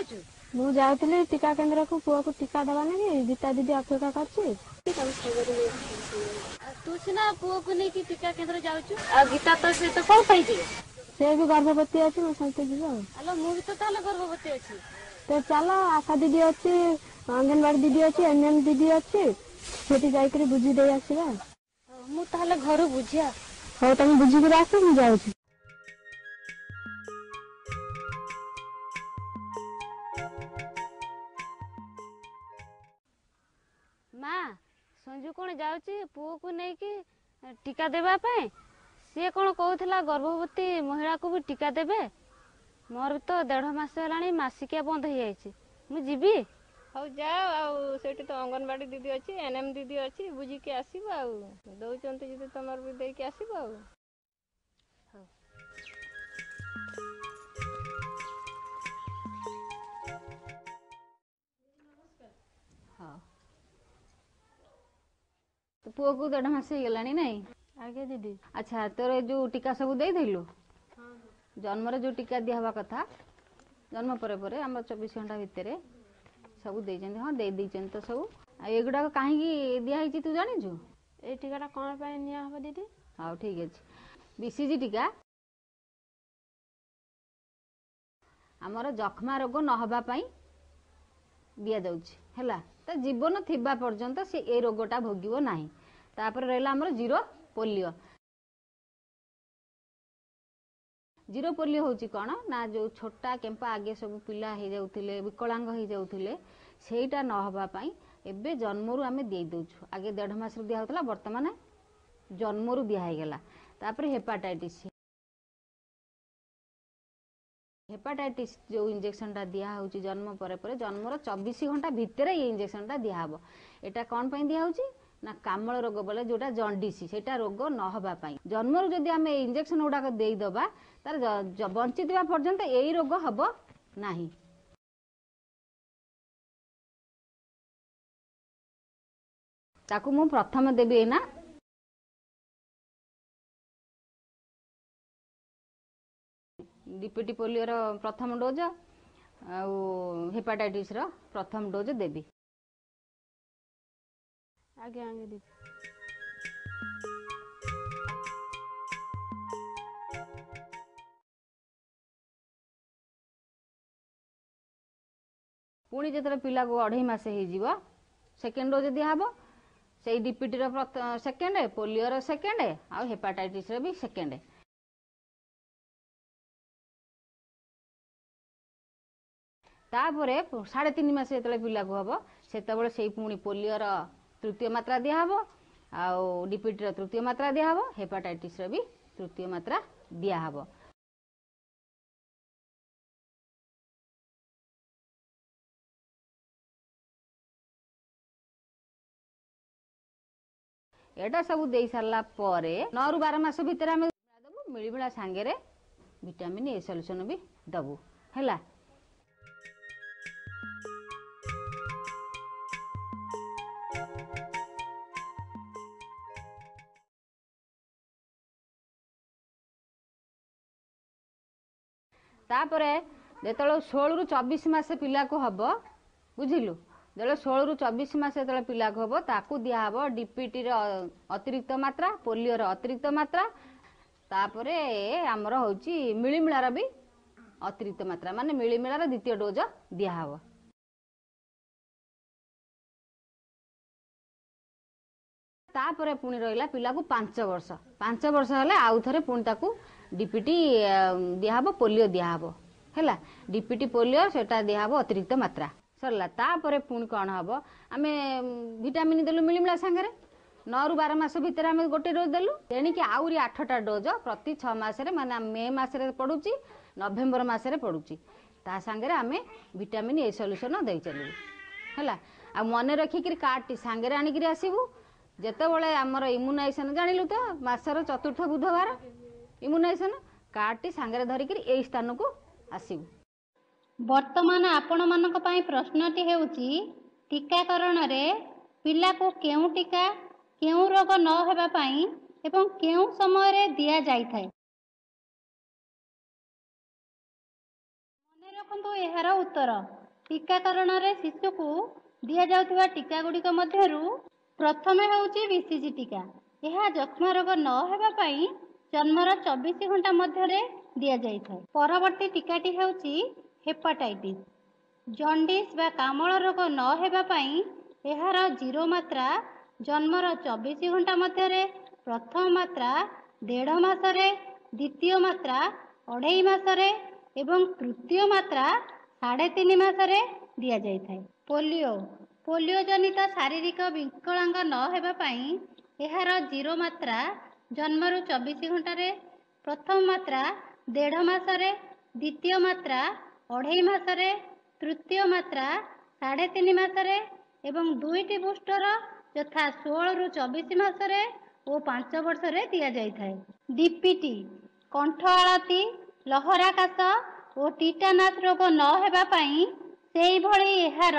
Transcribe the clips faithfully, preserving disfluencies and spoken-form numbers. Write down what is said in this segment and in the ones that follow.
ଯାଉଛୁ? ମୁଁ ଯାଉଥିଲି ଟୀକା କେନ୍ଦ୍ରକୁ ପୁଅକୁ ଟୀକା ଦେବା ନାଗି। ଗୀତା ଦିଦି ଅପେକ୍ଷା କରିଛି, ତାକୁ ସାଙ୍ଗରେ ନେଇ। ତୁ ସିନା ପୁଅକୁ ନେଇକି ଟୀକା କେନ୍ଦ୍ର ଯାଉଛୁ, ଆଉ ଗୀତା ତୋ ସହିତ କଣ ପାଇଁ ଯିବ? ସେ ବି ଗର୍ଭବତୀ ଅଛି, ମୋ ସହିତ ଯିବ। ଆଉ ଆଲୋ, ମୁଁ ବି ତ ତାହେଲେ ଗର୍ଭବତୀ ଅଛି। ତ ଚାଲ, ଆଶା ଦିଦି ଅଛି, ଅଙ୍ଗନବାଡି ଦିଦି ଅଛି, ଏନ୍ ଏମ୍ ଦିଦି ଅଛି, ସେଠି ଯାଇକରି ବୁଝି ଦେଇ ଆସିବା। ମୁଁ ତାହେଲେ ଘରୁ ବୁଝିଆ। ହଉ, ତମେ ବୁଝିକିରି ଆସ, ମୁଁ ଯାଉଛି। ମା, ସଞ୍ଜୁ କଣ ଯାଉଛି ପୁଅକୁ ନେଇକି ଟୀକା ଦେବା ପାଇଁ? ସିଏ କଣ କହୁଥିଲା ଗର୍ଭବତୀ ମହିଳାକୁ ବି ଟୀକା ଦେବେ। ମୋର ବି ତ ଦେଢ଼ ମାସ ହେଲାଣି ମାସିକିଆ ବନ୍ଦ ହେଇଯାଇଛି, ମୁଁ ଯିବି। ହଉ ଯାଅ, ଆଉ ସେଇଠି ତ ଅଙ୍ଗନବାଡ଼ି ଦିଦି ଅଛି, ଏନ୍ ଏମ୍ ଦିଦି ଅଛି, ବୁଝିକି ଆସିବ। ଆଉ ଦଉଛନ୍ତି ଯଦି ତମର ବି ଦେଇକି ଆସିବ। ଆଉ ହଉ। ହଉ, ତୋ ପୁଅକୁ ଦେଢ଼ ମାସ ହେଇଗଲାଣି ନାଇଁ? ଆଜ୍ଞା ଦିଦି। ଆଚ୍ଛା, ତୋର ଏ ଯୋଉ ଟୀକା ସବୁ ଦେଇଥିଲୁ? ଜନ୍ମରେ ଯୋଉ ଟୀକା ଦିଆ ହେବା କଥା, ଜନ୍ମ ପରେ ପରେ ଆମର ଚବିଶ ଘଣ୍ଟା ଭିତରେ ସବୁ ଦେଇଛନ୍ତି? ହଁ, ଦେଇ ଦେଇଛନ୍ତି ତ ସବୁ। ଆଉ ଏଗୁଡ଼ାକ କାହିଁକି ଦିଆହେଇଛି ତୁ ଜାଣିଛୁ? ଏଇ ଟୀକାଟା କଣ ପାଇଁ ନିଆ ହବ ଦିଦି? ହଉ, ଠିକ୍ ଅଛି। ବିସିଜି ଟୀକା ଆମର ଯକ୍ଷ୍ମା ରୋଗ ନ ହେବା ପାଇଁ ଦିଆଯାଉଛି, ହେଲା? ତା ଜୀବନ ଥିବା ପର୍ଯ୍ୟନ୍ତ ସେ ଏ ରୋଗଟା ଭୋଗିବ ନାହିଁ। ତାପରେ ରହିଲା ଆମର ଜିରୋ ପୋଲିଓ। ଜିରୋ ପୋଲିଓ ହେଉଛି କ'ଣ ନା, ଯେଉଁ ଛୋଟା କେମ୍ପା ଆଗେ ସବୁ ପିଲା ହେଇଯାଉଥିଲେ, ବିକଳାଙ୍ଗ ହେଇଯାଉଥିଲେ, ସେଇଟା ନ ହେବା ପାଇଁ ଏବେ ଜନ୍ମରୁ ଆମେ ଦେଇ ଦେଉଛୁ। ଆଗେ ଦେଢ଼ ମାସରୁ ଦିଆହେଉଥିଲା, ବର୍ତ୍ତମାନ ଜନ୍ମରୁ ଦିଆ ହେଇଗଲା। ତାପରେ ହେପାଟାଇଟିସ୍। ହେପାଟାଇଟିସ୍ ଯେଉଁ ଇଞ୍ଜେକ୍ସନଟା ଦିଆହେଉଛି ଜନ୍ମ ପରେ ପରେ, ଜନ୍ମର ଚବିଶ ଘଣ୍ଟା ଭିତରେ ଏଇ ଇଞ୍ଜେକ୍ସନଟା ଦିଆହେବ। ଏଇଟା କ'ଣ ପାଇଁ ଦିଆହେଉଛି ନା, କାମଳ ରୋଗ ବୋଲେ ଯେଉଁଟା ଜଣ୍ଡିସି, ସେଇଟା ରୋଗ ନ ହେବା ପାଇଁ ଜନ୍ମରୁ ଯଦି ଆମେ ଏଇ ଇଞ୍ଜେକ୍ସନ ଗୁଡ଼ାକ ଦେଇଦେବା, ତାର ବଞ୍ଚିଥିବା ପର୍ଯ୍ୟନ୍ତ ଏଇ ରୋଗ ହେବ ନାହିଁ। ତାକୁ ମୁଁ ପ୍ରଥମେ ଦେବି ଏଇନା ଡିପିଟି ପୋଲିଓର ପ୍ରଥମ ଡୋଜ୍ ଆଉ ହେପାଟାଇଟିସ୍ର ପ୍ରଥମ ଡୋଜ୍ ଦେବି। ଆଜ୍ଞା ଆଜ୍ଞା ଦିଦି। ପୁଣି ଯେତେବେଳେ ପିଲାକୁ ଅଢ଼େଇ ମାସ ହେଇଯିବ, ସେକେଣ୍ଡ ଡୋଜ୍ ଦିଆହେବ। ସେଇ ଡିପିଟିର ସେକେଣ୍ଡ, ପୋଲିଓର ସେକେଣ୍ଡ ଆଉ ହେପାଟାଇଟିସ୍ର ବି ସେକେଣ୍ଡ। ତାପରେ ସାଢ଼େ ତିନି ମାସ ଯେତେବେଳେ ପିଲାକୁ ହେବ, ସେତେବେଳେ ସେଇ ପୁଣି ପୋଲିଓର ତୃତୀୟ ମାତ୍ରା ଦିଆହେବ, ଆଉ ଡିପିଟିର ତୃତୀୟ ମାତ୍ରା ଦିଆହେବ, ହେପାଟାଇଟିସ୍ର ବି ତୃତୀୟ ମାତ୍ରା ଦିଆହେବ। ଏଇଟା ସବୁ ଦେଇ ସାରିଲା ପରେ ନଅରୁ ବାର ମାସ ଭିତରେ ଆମେ ଦେବୁ ମିଳିମିଳା ସାଙ୍ଗରେ ଭିଟାମିନ୍ ଏ ସଲ୍ୟୁସନ୍ ବି ଦେବୁ, ହେଲା? ତାପରେ ଯେତେବେଳେ ଷୋହଳରୁ ଚବିଶ ମାସ ପିଲାକୁ ହବ, ବୁଝିଲୁ, ଯେତେବେଳେ ଷୋହଳରୁ ଚବିଶ ମାସ ଯେତେବେଳେ ପିଲାକୁ ହବ, ତାକୁ ଦିଆହବ ଡିପିଟିର ଅତିରିକ୍ତ ମାତ୍ରା, ପୋଲିଓର ଅତିରିକ୍ତ ମାତ୍ରା, ତାପରେ ଆମର ହେଉଛି ମିଳିମିଳାର ବି ଅତିରିକ୍ତ ମାତ୍ରା, ମାନେ ମିଳିମିଳାର ଦ୍ୱିତୀୟ ଡୋଜ ଦିଆହବ। ତାପରେ ପୁଣି ରହିଲା ପିଲାକୁ ପାଞ୍ଚ ବର୍ଷ। ପାଞ୍ଚ ବର୍ଷ ହେଲେ ଆଉ ଥରେ ପୁଣି ତାକୁ ଡିପିଟି ଦିଆହବ, ପୋଲିଓ ଦିଆହବ, ହେଲା? ଡିପିଟି ପୋଲିଓ ସେଟା ଦିଆହବ ଅତିରିକ୍ତ ମାତ୍ରା। ସରିଲା। ତାପରେ ପୁଣି କ'ଣ ହବ? ଆମେ ଭିଟାମିନ୍ ଦେଲୁ ମିଳିମିଳା ସାଙ୍ଗରେ, ନଅରୁ ବାର ମାସ ଭିତରେ ଆମେ ଗୋଟେ ଡୋଜ୍ ଦେଲୁ। ତେଣିକି ଆହୁରି ଆଠଟା ଡୋଜ୍ ପ୍ରତି ଛଅ ମାସରେ, ମାନେ ମେ ମାସରେ ପଡ଼ୁଛି, ନଭେମ୍ବର ମାସରେ ପଡ଼ୁଛି, ତା ସାଙ୍ଗରେ ଆମେ ଭିଟାମିନ୍ ଏ ସଲ୍ୟୁସନ୍ ଦେଇ ଚାଲିବୁ, ହେଲା? ଆଉ ମନେ ରଖିକିରି କାର୍ଡ଼ଟି ସାଙ୍ଗରେ ଆଣିକିରି ଆସିବୁ। ଯେତେବେଳେ ଆମର ଇମ୍ୟୁନାଇଜେସନ୍, ଜାଣିଲୁ ତ, ମାସର ଚତୁର୍ଥ ବୁଧବାର ଇମ୍ୟୁନାଇଜେସନ୍, କାର୍ଡ଼ଟି ସାଙ୍ଗରେ ଧରିକିରି ଏଇ ସ୍ଥାନକୁ ଆସିବୁ। ବର୍ତ୍ତମାନ ଆପଣମାନଙ୍କ ପାଇଁ ପ୍ରଶ୍ନଟି ହେଉଛି, ଟୀକାକରଣରେ ପିଲାକୁ କେଉଁ ଟୀକା କେଉଁ ରୋଗ ନ ହେବା ପାଇଁ ଏବଂ କେଉଁ ସମୟରେ ଦିଆଯାଇଥାଏ? ମନେ ରଖନ୍ତୁ। ଦେଖନ୍ତୁ ଏହାର ଉତ୍ତର। ଟୀକାକରଣରେ ଶିଶୁକୁ ଦିଆଯାଉଥିବା ଟୀକାଗୁଡ଼ିକ ମଧ୍ୟରୁ ପ୍ରଥମେ ହେଉଛି ବିସିଜି ଟୀକା। ଏହା ଯକ୍ଷ୍ମା ରୋଗ ନ ହେବା ପାଇଁ ଜନ୍ମର ଚବିଶ ଘଣ୍ଟା ମଧ୍ୟରେ ଦିଆଯାଇଥାଏ। ପରବର୍ତ୍ତୀ ଟୀକାଟି ହେଉଛି ହେପାଟାଇଟିସ୍। ଜଣ୍ଡିସ୍ ବା କାମଳ ରୋଗ ନ ହେବା ପାଇଁ ଏହାର ଜିରୋ ମାତ୍ରା ଜନ୍ମର ଚବିଶ ଘଣ୍ଟା ମଧ୍ୟରେ, ପ୍ରଥମ ମାତ୍ରା ଦେଢ଼ ମାସରେ, ଦ୍ୱିତୀୟ ମାତ୍ରା ଅଢ଼େଇ ମାସରେ ଏବଂ ତୃତୀୟ ମାତ୍ରା ସାଢ଼େ ତିନି ମାସରେ ଦିଆଯାଇଥାଏ। ପୋଲିଓ। ପୋଲିଓ ଜନିତ ଶାରୀରିକ ବିକଳାଙ୍ଗ ନ ହେବା ପାଇଁ ଏହାର ଜିରୋ ମାତ୍ରା ଜନ୍ମରୁ ଚବିଶ ଘଣ୍ଟାରେ, ପ୍ରଥମ ମାତ୍ରା ଦେଢ଼ ମାସରେ, ଦ୍ୱିତୀୟ ମାତ୍ରା ଅଢ଼େଇ ମାସରେ, ତୃତୀୟ ମାତ୍ରା ସାଢ଼େ ତିନି ମାସରେ ଏବଂ ଦୁଇଟି ବୁଷ୍ଟର ଯଥା ଷୋହଳରୁ ଚବିଶ ମାସରେ ଓ ପାଞ୍ଚ ବର୍ଷରେ ଦିଆଯାଇଥାଏ। ଡିପିଟି। କଣ୍ଠ ଆଳତି, ଲହରା କାଶ ଓ ଟିଟାନାସ୍ ରୋଗ ନ ହେବା ପାଇଁ ସେହିଭଳି ଏହାର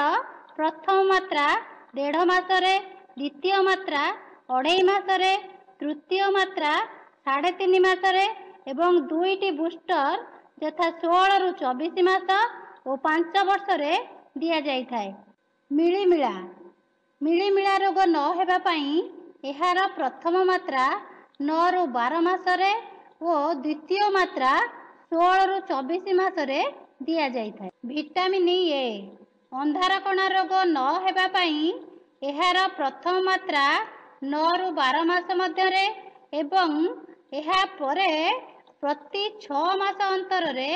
ପ୍ରଥମ ମାତ୍ରା ଦେଢ଼ ମାସରେ, ଦ୍ୱିତୀୟ ମାତ୍ରା ଅଢ଼େଇ ମାସରେ, ତୃତୀୟ ମାତ୍ରା ସାଢ଼େ ତିନି ମାସରେ ଏବଂ ଦୁଇଟି ବୁଷ୍ଟର ଯଥା ଷୋହଳରୁ ଚବିଶ ମାସ ଓ ପାଞ୍ଚ ବର୍ଷରେ ଦିଆଯାଇଥାଏ। ମିଳିମିଳା। ମିଳିମିଳା ରୋଗ ନ ହେବା ପାଇଁ ଏହାର ପ୍ରଥମ ମାତ୍ରା ନଅରୁ ବାର ମାସରେ ଓ ଦ୍ୱିତୀୟ ମାତ୍ରା ଷୋହଳରୁ ଚବିଶ ମାସରେ ଦିଆଯାଇଥାଏ। Vitamin A. ଅନ୍ଧାରକଣା ରୋଗ ନ ହେବା ପାଇଁ ଏହାର ପ୍ରଥମ ମାତ୍ରା ନଅରୁ ବାର ମାସ ମଧ୍ୟରେ ଏବଂ ଏହା ପରେ ପ୍ରତି ଛଅ ମାସ ଅନ୍ତରରେ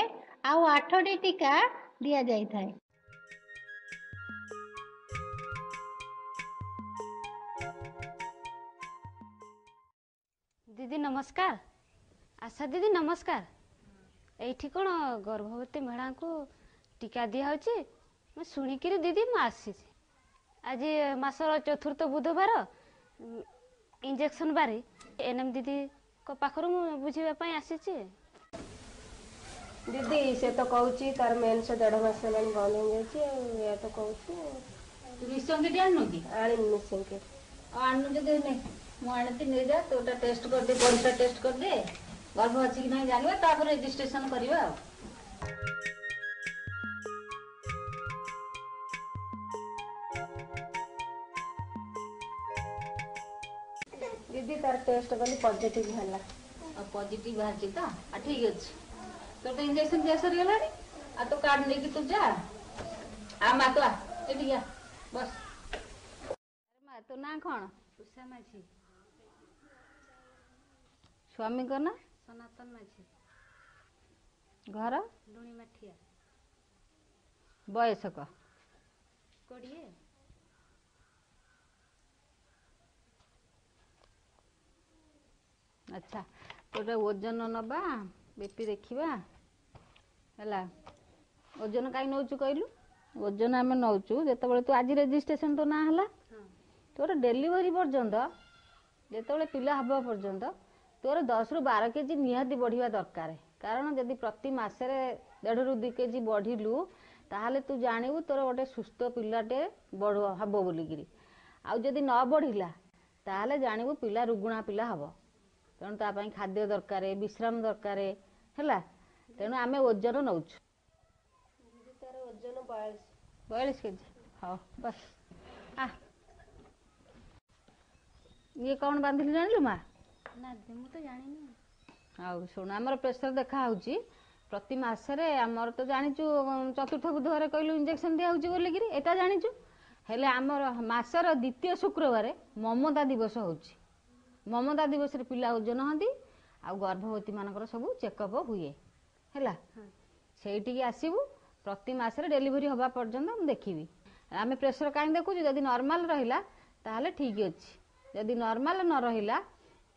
ଆଉ ଆଠଟି ଟୀକା ଦିଆଯାଇଥାଏ। ଦିଦି ନମସ୍କାର। ଆଶା ଦିଦି ନମସ୍କାର। ଏଇଠି କ'ଣ ଗର୍ଭବତୀ ମହିଳାଙ୍କୁ ଟୀକା ଦିଆହେଉଛି? ମୁଁ ଶୁଣିକିରି ଦିଦି ମୁଁ ଆସିଛି। ଆଜି ମାସର ଚତୁର୍ଥ ବୁଧବାର ଇଞ୍ଜେକ୍ସନ୍ ବାରି, ଏନ୍ ଏମ୍ ଦିଦିଙ୍କ ପାଖରୁ ମୁଁ ବୁଝିବା ପାଇଁ ଆସିଛି। ଦିଦି, ସେ ତ କହୁଛି ତାର ମେନ୍ସ ଦେଢ଼ ମାସ ହେଲାଣି ବନ୍ଦ ହେଇଯାଇଛି, ଆଉ ଏଇଆ ତ କହୁଛି। ତୁ ମିଶନ କିଟ୍ ଆଣିନୁ କି? ଆଣିନି ମିଶନ କିଟ୍। ଆଉ ଆଣିନୁ ଯଦି ନେ, ମୁଁ ଆଣିଛି, ନେଇଯା। ତୋଟା ଟେଷ୍ଟ କରିଦେ, ପରିସ୍ରା ଟେଷ୍ଟ କରିଦେ, ଗର୍ଭ ଅଛି କି ନାହିଁ ଜାଣିବା, ତାପରେ ରେଜିଷ୍ଟ୍ରେସନ କରିବା। ଆଉ ଦିଦି, ତାର ଟେଷ୍ଟ କଲି, ପଜିଟିଭ ହେଲା। ଆଉ ପଜିଟିଭ ବାହାରିଛି ତ, ଆଉ ଠିକ ଅଛି। ତୋର ତ ଇଞ୍ଜେକ୍ସନ ଦିଆ ସରିଗଲାଣି, ଆଉ ତୋ କାର୍ଡ ନେଇକି ତୁ ଯା। ଆ ମା, ତୁ ଆ, ଏଠିକି ଆ, ବସ। ମା, ତୋ ନାଁ କ'ଣ? ଉଷା ମାଝୀ। ସ୍ୱାମୀଙ୍କ ନାଁ? ସନାତନ ମାଝୀ। ଘର? ଲୁଣି ମାଠିଆ। ବୟସ କହ। କୋଡ଼ିଏ। ଆଚ୍ଛା, ତୋର ଓଜନ ନେବା, ବିପି ଦେଖିବା। ହେଲା, ଓଜନ କାହିଁ ନେଉଛୁ କହିଲୁ? ଓଜନ ଆମେ ନେଉଛୁ ଯେତେବେଳେ ତୁ ଆଜି ରେଜିଷ୍ଟ୍ରେସନ ତୋ ନାଁ ହେଲା, ତୋର ଡେଲିଭରି ପର୍ଯ୍ୟନ୍ତ, ଯେତେବେଳେ ପିଲା ହେବା ପର୍ଯ୍ୟନ୍ତ ତୋର ଦଶରୁ ବାର କେଜି ନିହାତି ବଢ଼ିବା ଦରକାର। କାରଣ ଯଦି ପ୍ରତି ମାସରେ ଦେଢ଼ରୁ ଦୁଇ କେଜି ବଢ଼ିଲୁ, ତାହେଲେ ତୁ ଜାଣିବୁ ତୋର ଗୋଟେ ସୁସ୍ଥ ପିଲାଟେ ବଢ଼ ହେବ ବୋଲିକିରି। ଆଉ ଯଦି ନ ବଢ଼ିଲା, ତାହେଲେ ଜାଣିବୁ ପିଲା ରୁଗୁଣା ପିଲା ହେବ। ତେଣୁ ତା ପାଇଁ ଖାଦ୍ୟ ଦରକାର, ବିଶ୍ରାମ ଦରକାର। ହେଲା, ତେଣୁ ଆମେ ଓଜନ ନେଉଛୁ। ଦିଦି, ତାର ଓଜନ ବୟାଳିଶ। ବୟାଳିଶ କେଜି। ହଉ ବସ୍। ଆ ଇଏ କ'ଣ ବାନ୍ଧିଲି ଜାଣିଲୁ ମା? ନା, ମୁଁ ତ ଜାଣିନି। ଆଉ ଶୁଣ, ଆମର ପ୍ରେସର ଦେଖା ହେଉଛି ପ୍ରତି ମାସରେ। ଆମର ତ ଜାଣିଛୁ ଚତୁର୍ଥ ବୁଧବାର କହିଲୁ ଇଞ୍ଜେକ୍ସନ ଦିଆହେଉଛି ବୋଲିକିରି, ଏଟା ଜାଣିଛୁ। ହେଲେ ଆମର ମାସର ଦ୍ୱିତୀୟ ଶୁକ୍ରବାର ମମତା ଦିବସ ହେଉଛି। ମମତା ଦିବସରେ ପିଲା ଓଜନ ହୁଅନ୍ତି ଆଉ ଗର୍ଭବତୀମାନଙ୍କର ସବୁ ଚେକଅପ୍ ହୁଏ। ହେଲା, ସେଇଠିକି ଆସିବୁ ପ୍ରତି ମାସରେ ଡେଲିଭରି ହେବା ପର୍ଯ୍ୟନ୍ତ, ମୁଁ ଦେଖିବି। ଆମେ ପ୍ରେସର କାହିଁ ଦେଖୁଛୁ? ଯଦି ନର୍ମାଲ ରହିଲା ତାହେଲେ ଠିକ୍ ଅଛି। ଯଦି ନର୍ମାଲ ନ ରହିଲା,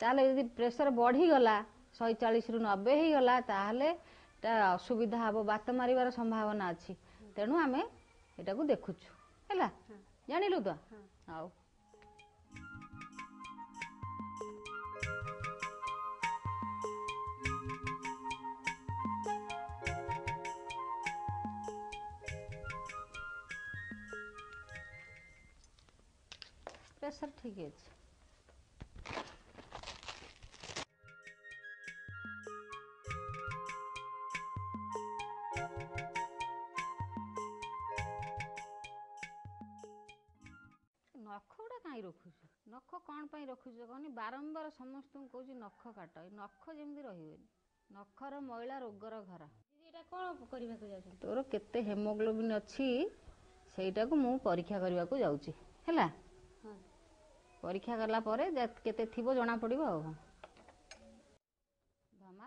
ତାହେଲେ ଯଦି ପ୍ରେସର ବଢ଼ିଗଲା, ଶହେ ଚାଳିଶରୁ ନବେ ହେଇଗଲା, ତାହେଲେ ଟା ଅସୁବିଧା ହେବ, ବାତ ମାରିବାର ସମ୍ଭାବନା ଅଛି। ତେଣୁ ଆମେ ଏଟାକୁ ଦେଖୁଛୁ। ହେଲା, ଜାଣିଲୁ ତ? ହଉ, ପ୍ରେସର ଠିକ୍ ଅଛି। କାହିଁ ରଖୁଛୁ? ନଖ କ'ଣ ପାଇଁ ରଖୁଛୁ କହନି? ବାରମ୍ବାର ସମସ୍ତଙ୍କୁ କହୁଛି ନଖ କାଟ, ଏ ନଖ ଯେମିତି ରହିବନି। ନଖର ମଇଳା ରୋଗର ଘର। ଦିଦି, ଏଇଟା କ'ଣ କରିବାକୁ ଯାଉଛନ୍ତି? ତୋର କେତେ ହେମୋଗ୍ଲୋବିନ୍ ଅଛି ସେଇଟାକୁ ମୁଁ ପରୀକ୍ଷା କରିବାକୁ ଯାଉଛି, ହେଲା? ହଁ। ପରୀକ୍ଷା କଲା ପରେ ଯେ- କେତେ ଥିବ ଜଣା ପଡ଼ିବ। ଆଉ ଧମା,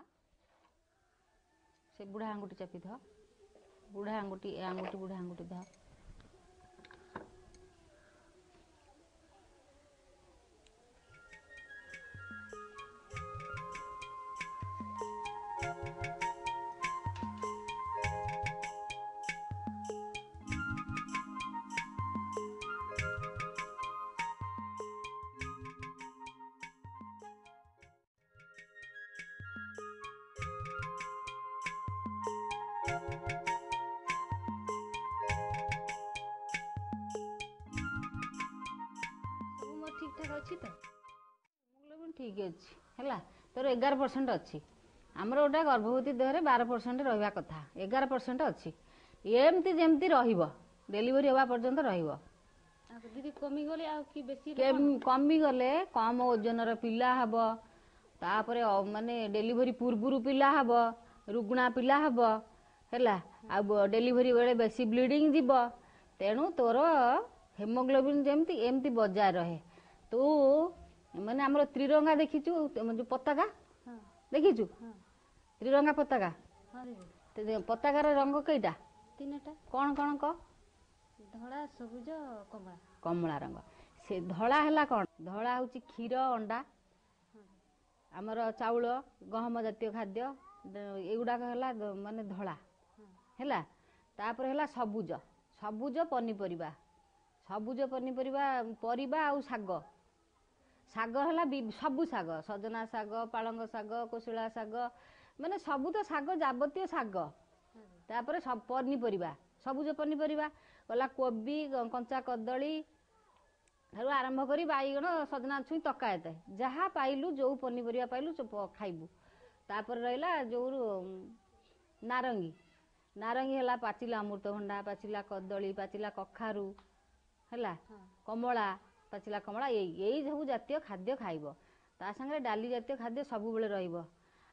ସେ ବୁଢ଼ା ଆଙ୍ଗୁଠି ଚାପି ଧ, ବୁଢ଼ା ଆଙ୍ଗୁଠି, ଏ ଆଙ୍ଗୁଠି, ବୁଢ଼ା ଆଙ୍ଗୁଠି ଧ। ସବୁ ମୋର ଠିକ୍ ଠାକ୍ ଅଛି ତ? ହେମୋଗ୍ଲୋବିନ୍ ଠିକ୍ ଅଛି, ହେଲା? ତୋର ଏଗାର ପରସେଣ୍ଟ ଅଛି। ଆମର ଗୋଟେ ଗର୍ଭବତୀ ଦେହରେ ବାର ପରସେଣ୍ଟ ରହିବା କଥା, ଏଗାର ପରସେଣ୍ଟ ଅଛି। ଏମିତି ଯେମିତି ରହିବ, ଡେଲିଭରି ହେବା ପର୍ଯ୍ୟନ୍ତ ରହିବ। ଆଉ ଦିଦି, କମିଗଲେ ଆଉ କି ବେଶୀ ହେଲେ କ'ଣ? କେମ୍- କମିଗଲେ କମ ଓଜନର ପିଲା ହବ, ତାପରେ ଅ- ମାନେ ଡେଲିଭରି ପୂର୍ବରୁ ପିଲା ହବ, ରୁଗ୍ଣା ପିଲା ହବ, ହେଲା? ଆଉ ଡେଲିଭରି ବେଳେ ବେଶୀ ବ୍ଲିଡ଼ିଂ ଯିବ। ତେଣୁ ତୋର ହେମୋଗ୍ଲୋବିନ୍ ଯେମିତି ଏମିତି ବଜାୟ ରହେ। ତୁ ମାନେ ଆମର ତ୍ରିରଙ୍ଗା ଦେଖିଛୁ, ଯୋଉ ପତାକା? ହଁ। ଦେଖିଛୁ? ହଁ। ତ୍ରିରଙ୍ଗା ପତାକା? ହଁ ଦିଦି। ତ ପତାକାର ରଙ୍ଗ କେଇଟା? ତିନିଟା। କ'ଣ କ'ଣ କହ? ଧଳା, ସବୁଜ, କମଳା। କମଳା ରଙ୍ଗ। ସେ ଧଳା ହେଲା କ'ଣ? ଧଳା ହେଉଛି କ୍ଷୀର, ଅଣ୍ଡା, ଆମର ଚାଉଳ, ଗହମ ଜାତୀୟ ଖାଦ୍ୟ, ଦ- ଏଗୁଡ଼ାକ ହେଲା ଦ- ମାନେ ଧଳା ହେଲା। ତାପରେ ହେଲା ସବୁଜ। ସବୁଜ ପନିପରିବା, ସବୁଜ ପନିପରିବା, ପରିବା ଆଉ ଶାଗ। ଶାଗ ହେଲା ବି- ସବୁ ଶାଗ, ସଜନା ଶାଗ, ପାଳଙ୍ଗ ଶାଗ, କୋଶଳା ଶାଗ, ମାନେ ସବୁ ତ ଶାଗ, ଯାବତୀୟ ଶାଗ। ତାପରେ ସବୁ ପନିପରିବା, ସବୁଜ ପନିପରିବା ଗଲା କୋବି, କଞ୍ଚା କଦଳୀ ଠାରୁ ଆରମ୍ଭ କରି ବାଇଗଣ, ସଜନା ଛୁଇଁ ତକାଏତେ, ଯାହା ପାଇଲୁ, ଯୋଉ ପନିପରିବା ପାଇଲୁ ସେ ପ- ଖାଇବୁ। ତାପରେ ରହିଲା ଯୋଉ ନାରଙ୍ଗୀ। ନାରଙ୍ଗୀ ହେଲା ପାଚିଲା ଅମୃତଭଣ୍ଡା, ପାଚିଲା କଦଳୀ, ପାଚିଲା କଖାରୁ, ହେଲା? କମଳା, ପାଚିଲା କମଳା। ଏଇ ଏଇ ସବୁ ଜାତୀୟ ଖାଦ୍ୟ ଖାଇବ। ତା ସାଙ୍ଗରେ ଡାଲି ଜାତୀୟ ଖାଦ୍ୟ ସବୁବେଳେ ରହିବ।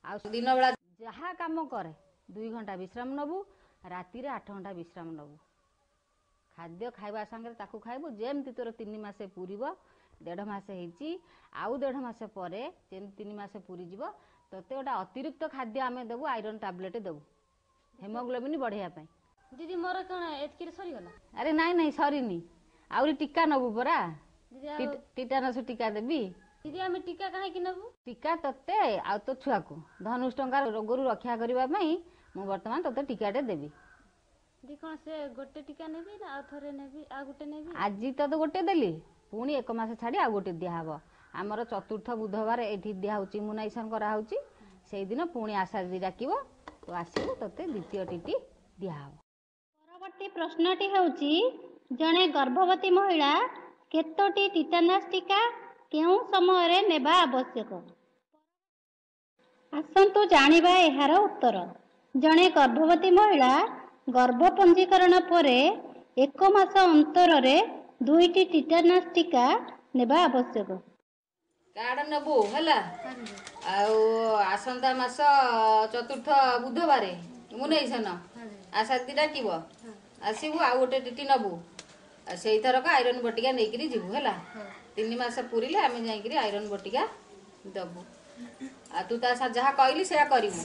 ଆଉ ଦିନ ବେଳା ଯାହା କାମ କରେ ଦୁଇ ଘଣ୍ଟା ବିଶ୍ରାମ ନେବୁ, ରାତିରେ ଆଠ ଘଣ୍ଟା ବିଶ୍ରାମ ନେବୁ। ଖାଦ୍ୟ ଖାଇବା ସାଙ୍ଗରେ ତାକୁ ଖାଇବୁ। ଯେମିତି ତୋର ତିନି ମାସ ପୁରିବ, ଦେଢ଼ ମାସ ହେଇଛି, ଆଉ ଦେଢ଼ ମାସ ପରେ ଯେମିତି ତିନି ମାସ ପୁରିଯିବ, ତୋତେ ଗୋଟେ ଅତିରିକ୍ତ ଖାଦ୍ୟ ଆମେ ଦେବୁ, ଆଇରନ୍ ଟାବଲେଟ୍ ଦେବୁ ହେମୋଗ୍ଲୋବିନ୍ ବଢ଼େଇବା ପାଇଁ। ଦିଦି, ମୋର କ'ଣ ଏତିକିରେ ସରିଗଲା? ଆରେ ନାଇଁ ନାଇଁ, ସରିନି, ଆହୁରି ଟୀକା ନେବୁ ପରା। ଦିଦି, ଆଉ ଟିଟାନସ୍ ଟୀକା ଦେବି। ଦିଦି, ଆମେ ଟୀକା କାହିଁକି ନେବୁ? ଟୀକା ତତେ ଆଉ ତୋ ଛୁଆକୁ ଧନୁଷ ଟଙ୍କା ରୋଗରୁ ରକ୍ଷା କରିବା ପାଇଁ ମୁଁ ବର୍ତ୍ତମାନ ତୋତେ ଟୀକାଟେ ଦେବି। ଦିଦି, କ'ଣ ସେ ଗୋଟେ ଟୀକା ନେବି ନା ଆଉ ଥରେ ନେବି, ଆଉ ଗୋଟେ ନେବି? ଆଜି ତ ଗୋଟେ ଦେଲି, ପୁଣି ଏକ ମାସ ଛାଡ଼ି ଆଉ ଗୋଟେ ଦିଆହବ। ଆମର ଚତୁର୍ଥ ବୁଧବାର ଏଇଠି ଦିଆହଉଛି, ଇମ୍ୟୁନାଇଜେସନ କରାହଉଛି। ସେଇଦିନ ପୁଣି ଆଶା ଦିଦି ଡାକିବ, ତୁ ଆସିବୁ, ତୋତେ ଦ୍ୱିତୀୟ ଟିଟି ଦିଆହବ। ପରବର୍ତ୍ତୀ ପ୍ରଶ୍ନଟି ହେଉଛି, ଜଣେ ଗର୍ଭବତୀ ମହିଳା କେତୋଟି ଟିଟାନସ୍ ଟୀକା କେଉଁ ସମୟରେ ନେବା ଆବଶ୍ୟକ? ଆସନ୍ତୁ ଜାଣିବା ଏହାର ଉତ୍ତର। ଜଣେ ଗର୍ଭବତୀ ମହିଳା ଗର୍ଭ ପଞ୍ଜୀକରଣ ପରେ ଏକ ମାସ ଅନ୍ତରରେ ଦୁଇଟି ଟିଟାନସ୍ ଟୀକା ନେବା ଆବଶ୍ୟକ। କାର୍ଡ ନେବୁ, ହେଲା? ଆଉ ଆସନ୍ତା ମାସ ଚତୁର୍ଥ ବୁଧବାର ଇମ୍ୟୁନାଇଜେସନ, ଆଶା ଦିଦି ଡାକିବ, ଆସିବୁ, ଆଉ ଗୋଟେ ଟିଟି ନେବୁ। ଆଉ ସେଇଥରକ ଆଇରନ୍ ବଟିକା ନେଇକିରି ଯିବୁ, ହେଲା? ତିନି ମାସ ପୁରିଲେ ଆମେ ଯାଇକିରି ଆଇରନ୍ ବଟିକା ଦବୁ। ଆଉ ତୁ ତା ସା- ଯାହା କହିଲି ସେୟା କରିବୁ,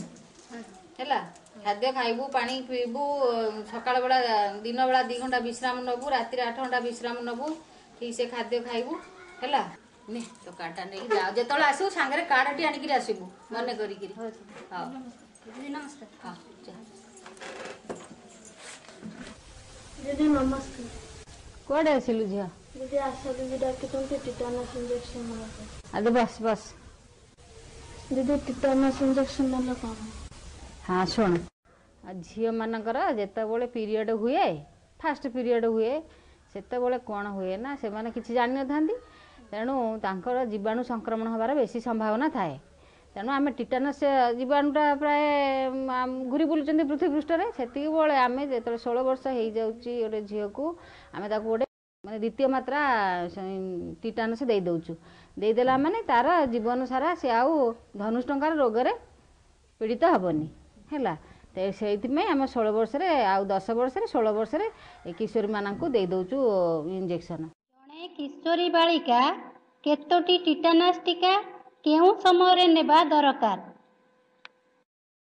ହେଲା? ଖାଦ୍ୟ ଖାଇବୁ, ପାଣି ପିଇବୁ, ସକାଳ ବେଳା ଦିନ ବେଳା ଦି ଘଣ୍ଟା ବିଶ୍ରାମ ନେବୁ, ରାତିରେ ଆଠ ଘଣ୍ଟା ବିଶ୍ରାମ ନେବୁ, ଠିକ୍ ସେ ଖାଦ୍ୟ ଖାଇବୁ, ହେଲା? ନେ ତୋ କାର୍ଡଟା ନେଇକି ଯା। ଯେତେବେଳେ ଆସିବୁ ସାଙ୍ଗରେ କାର୍ଡଟି ଆଣିକିରି ଆସିବୁ ମନେ କରିକିରି। ହଉ। ଦିଦି, ନମସ୍କାର। ହଁ, ଯା। ଦିଦି, ନମସ୍କାର। କୁଆଡ଼େ ଆସିଲୁ ଝିଅ? ଦିଦି, ଆଶା ଦିଦି ଡାକିଛନ୍ତି ଟିଟାନସ୍ ଇଞ୍ଜେକ୍ସନ ନେବା ପାଇଁ। ଆରେ ବସ୍ ବସ୍। ଦିଦି, ଟିଟାନସ୍ ଇଞ୍ଜେକ୍ସନ ନେଲେ କ'ଣ? ହଁ, ଶୁଣ, ଆଉ ଝିଅମାନଙ୍କର ଯେତେବେଳେ ପିରିୟଡ଼ ହୁଏ, ଫାଷ୍ଟ ପିରିୟଡ଼ ହୁଏ, ସେତେବେଳେ କ'ଣ ହୁଏ ନା ସେମାନେ କିଛି ଜାଣିନଥାନ୍ତି, ତେଣୁ ତାଙ୍କର ଜୀବାଣୁ ସଂକ୍ରମଣ ହେବାର ବେଶୀ ସମ୍ଭାବନା ଥାଏ। ତେଣୁ ଆମେ ଟିଟାନସ୍ ଜୀବାଣୁଟା ପ୍ରାୟ ଘୁରି ବୁଲୁଛନ୍ତି ପୃଥିବୀ ପୃଷ୍ଠରେ। ସେତିକି ବେଳେ ଆମେ ଯେତେବେଳେ ଷୋହଳ ବର୍ଷ ହେଇଯାଉଛି ଗୋଟେ ଝିଅକୁ, ଆମେ ତାକୁ ଗୋଟେ ମାନେ ଦ୍ୱିତୀୟ ମାତ୍ରା ଟିଟାନସ୍ ଦେଇ ଦେଉଛୁ। ଦେଇଦେଲା ମାନେ ତାର ଜୀବନ ସାରା ସେ ଆଉ ଧନୁଷ ଟଙ୍କାର ରୋଗରେ ପୀଡ଼ିତ ହେବନି, ହେଲା। ତ ସେଇଥିପାଇଁ ଆମେ ଷୋହଳ ବର୍ଷରେ ଆଉ ଦଶ ବର୍ଷରେ, ଷୋହଳ ବର୍ଷରେ କିଶୋରୀମାନଙ୍କୁ ଦେଇ ଦେଉଛୁ ଇଞ୍ଜେକ୍ସନ୍। ଜଣେ କିଶୋରୀ ବାଳିକା କେତୋଟି ଟିଟାନସ୍ ଟିକା କେଉଁ ସମୟରେ ନେବା ଦରକାର?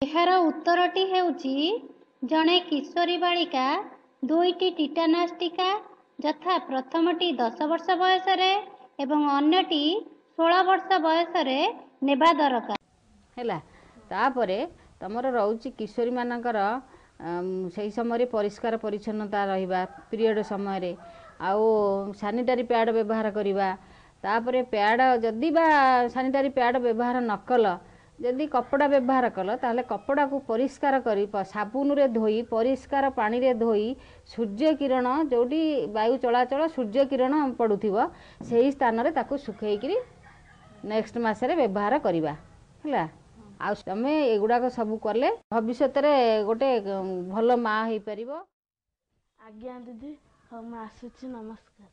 ଏହାର ଉତ୍ତରଟି ହେଉଛି, ଜଣେ କିଶୋରୀ ବାଳିକା ଦୁଇଟି ଟିଟାନସ୍ ଟିକା, ଯଥା ପ୍ରଥମଟି ଦଶ ବର୍ଷ ବୟସରେ ଏବଂ ଅନ୍ୟଟି ଷୋହଳ ବର୍ଷ ବୟସରେ ନେବା ଦରକାର। ହେଲା, ତାପରେ ତମର ରହୁଛି କିଶୋରୀମାନଙ୍କର ସେଇ ସମୟରେ ପରିଷ୍କାର ପରିଚ୍ଛନ୍ନତା ରହିବା ପିରିୟଡ଼ ସମୟରେ, ଆଉ ସାନିଟାରୀ ପ୍ୟାଡ଼୍ ବ୍ୟବହାର କରିବା। ତାପରେ ପ୍ୟାଡ଼୍ ଯଦି ବା ସାନିଟାରୀ ପ୍ୟାଡ଼୍ ବ୍ୟବହାର ନ କଲ, ଯଦି କପଡ଼ା ବ୍ୟବହାର କଲ, ତାହେଲେ କପଡ଼ାକୁ ପରିଷ୍କାର କରି ସାବୁନରେ ଧୋଇ, ପରିଷ୍କାର ପାଣିରେ ଧୋଇ, ସୂର୍ଯ୍ୟ କିରଣ ଯେଉଁଠି ବାୟୁ ଚଳାଚଳ ସୂର୍ଯ୍ୟ କିରଣ ପଡ଼ୁଥିବ ସେହି ସ୍ଥାନରେ ତାକୁ ଶୁଖେଇକିରି ନେକ୍ସଟ ମାସରେ ବ୍ୟବହାର କରିବା। ହେଲା, ଆଉ ତମେ ଏଗୁଡ଼ାକ ସବୁ କଲେ ଭବିଷ୍ୟତରେ ଗୋଟେ ଭଲ ମା ହେଇପାରିବ। ଆଜ୍ଞା ଦିଦି, ହଉ ମୁଁ ଆସୁଛି, ନମସ୍କାର।